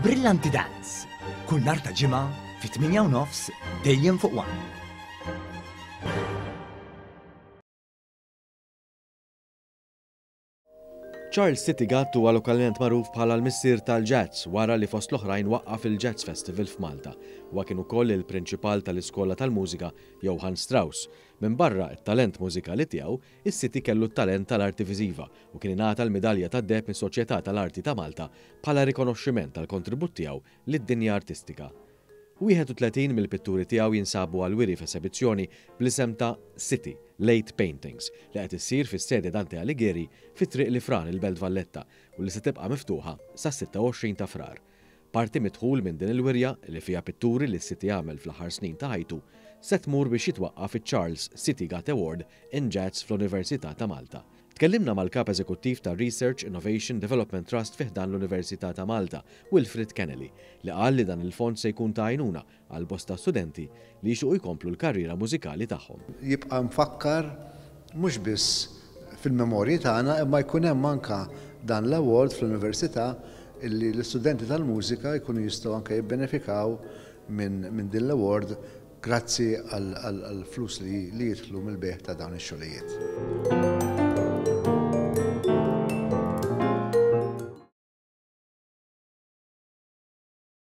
Brillanti Dance, kull nhar ta' Ġimgħa fit-8 u nofs dejjem fuq One. Charles City Gatt huwa lokalment magħruf bħala l-missier tal-jazz wara li fost l-oħrajn waqqaf il-Jazz Festival f'Malta. Huwa kien ukoll il-prinċipal tal-iskola tal-mużika Johann Strauss. Minbarra t-talent mużikali tiegħu, is-City kellu t-talent tal-arti viżiva u kien ingħata l-Midalja tad-Deheb mis-Soċjetà tal-Arti ta' Malta bħala rikonoxximent għall-kontribut tiegħu lid-dinja artistika. 31 mill-pitturi tiegħu jinsabu għall-wiri f'esebizzjoni bl-isem ta' City, Late Paintings, li qed issir fis-sede Dante Alighieri fi Triq l-Ifran il-Belt Valletta u li se tibqa' miftuħa sas-26 ta' Frar. Parti mid-dħul minn din il-wirja, li fiha pitturi li s-City għamel fl-aħħar snin ta' ħajtu, se tmur biex jitwaqqaf iċ-Charles City Gatt Award in Jazz fl-Università ta' Malta. Tkellimna mal-Kap Eżekuttiv tar-Research, Innovation, Development Trust fi ħdan l-Università ta' Malta, Wilfred Kennelly, li qal li dan il-fond se jkun ta' għajnuna għal bosta studenti li jixtiequ jkomplu l-karriera mużikali tagħhom. Jibqa' mfakkar mhux biss fil-memorji tagħna imma jkun hemm anke dan l-award fl-Università illi l-istudenti tal-mużika jkunu jistgħu anke jibbenefikaw minn din l-award grazzi għall-flus li jidħlu mill-bejgħ ta' dawn ix-xogħlijiet.